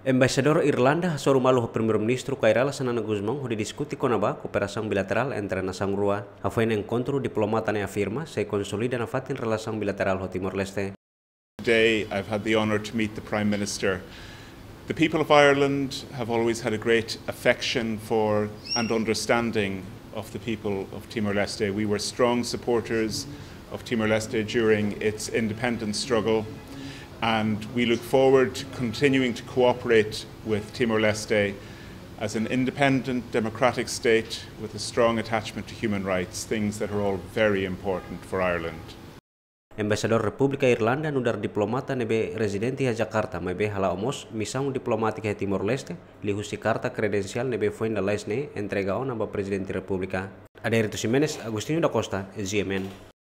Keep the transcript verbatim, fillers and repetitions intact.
Embaixadór Irlanda hasoru malu ho Primeiru-Ministru Kay Rala Xanana Gusmão hodi diskute kona-ba kooperasaun bilaterál entre nasaun rua. Hafoin enkontru, diplomata ne'e afirma sei konsolida nafatin relasaun bilaterál ho Timor-Leste. Today, I've had the honour to meet the Prime Minister. The people of Ireland have always had a great affection for and understanding of the people of Timor-Leste. We were strong supporters of Timor-Leste during its independence struggle, and we look forward to continuing to cooperate with Timor-Leste as an independent, democratic state with a strong attachment to human rights, things that are all very important for Ireland. Embaixadór Repúblika Irlanda nu'udar diplomata ne'ebé rezidente iha Jakarta, maibé hala'o mós misaun diplomátika iha Timor-Leste, liuhusi karta kredensiál ne'ebé foin lalais ne'e entrega ona ba Prezidente Repúblika. Adérito Ximenes, Agostinho da Costa, G M N.